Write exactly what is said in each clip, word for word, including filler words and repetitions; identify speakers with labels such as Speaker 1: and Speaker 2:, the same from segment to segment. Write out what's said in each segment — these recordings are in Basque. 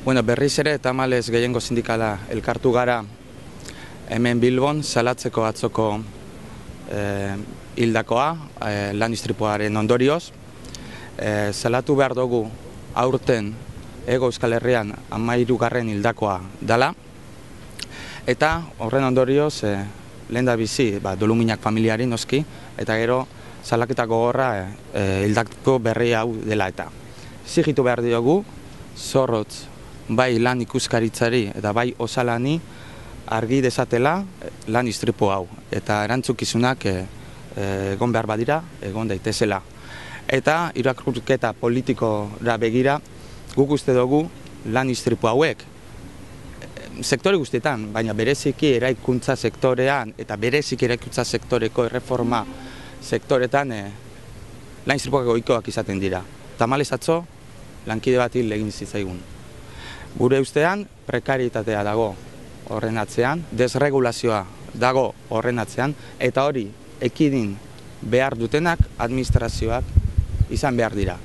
Speaker 1: Bueno, berriz ere, tamalez gehiengo sindikala elkartu gara hemen Bilbon salatzeko atzoko eh, hildakoa, eh, lan istripuaren ondorioz. Eh, salatu behar dugu aurten Hego Euskal Herrian hamahirugarren hildakoa dela, eta horren ondorioz eh, lehen da bizi ba, doluminak familiari noski, eta gero salaketa gogorra eh, hildako berri hau dela eta. Zigitu behar diogu, zorrotz bai lan ikuskaritzari eta bai osalani argi dezatela lan istripu hau, eta erantzukizunak e, e, egon behar badira, egon daitezela. Eta irakurketa politikora begira, guk uste dugu lan istripu hauek sektore guztietan, baina bereziki eraikuntza sektorean eta bereziki eraikuntza sektoreko erreforma sektoretan e, lan istripuak ohikoak izaten dira. Tamalez atzo, lankide bat hil egin zitzaigun. Gure ustean, prekarietatea dago horren atzean, desregulazioa dago horren atzean, eta hori ekidin behar dutenak administrazioak izan behar dira.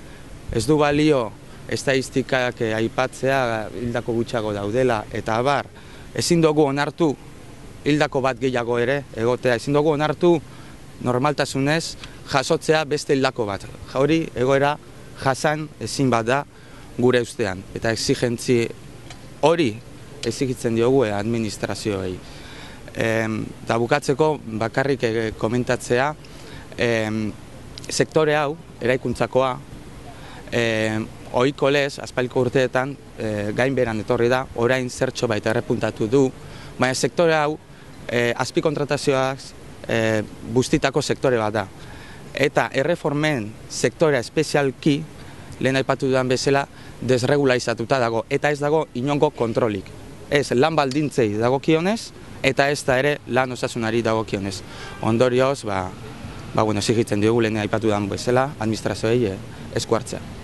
Speaker 1: Ez du balio estatistikak aipatzea hildako gutxiago daudela, eta abar, ezin dugu onartu hildako bat gehiago ere egotea, ezin dugu onartu normaltasunez jasotzea beste hildako bat. Hori egoera jasan ezin bat da gure ustean, eta exigentzi hori exigitzen diogu administrazioei. Eta bukatzeko bakarrik komentatzea, sektore hau, eraikuntzakoa, ohiko lez, aspaldiko urteetan, gainbeheran etorri da, orain zertxo baita errepuntatu du, baina sektore hau, azpikontratazioak bustitako sektore bat da. Eta erreformen sektorea espezialki, lehen aipatu dudan bezala, desregularizatuta dago, eta ez dago inongo kontrolik. Ez lan baldintzei dagokionez, eta ez da ere lan osasunari dagokionez. Ondorioz, ba, ba, bueno, zigitzen diogu lehen aipatu dudan bezala, administrazioei esku hartzea.